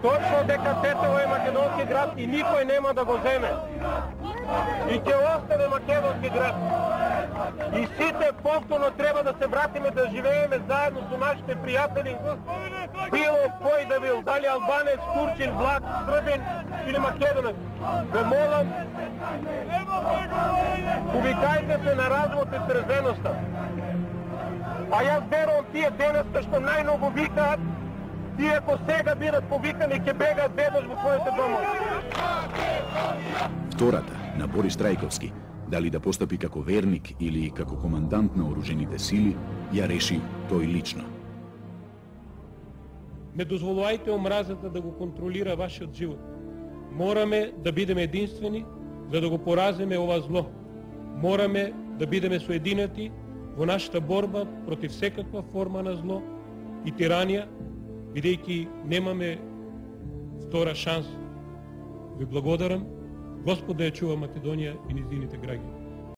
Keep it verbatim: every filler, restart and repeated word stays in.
Точно дека Тетево е македонски град и никој нема да го земе. И ќе остане македонски град. И сите повторно треба да се вратиме да живееме заедно со нашите пријатели. Било кој да бил, дали албанец, турчин, влак, србин или македонец. Ве молам, повикајте се на развод и трезеноста. А јас верувам тие денеска што најмногу викаат, тие ако сега бидат повикани ќе бегаат веднаш во своите домови. Втората, на Борис Трајковски, дали да постапи како верник или како командант на оружените сили, ја реши тој лично. Не дозволувајте омразата да го контролира вашиот живот. Мораме да бидеме единствени за да го поразиме ова зло. Мораме да бидеме соединети во нашата борба против секаква форма на зло и тиранија, бидејќи немаме втора шанса. Ви благодарам. Господ да ја чува Македонија и низините граѓани.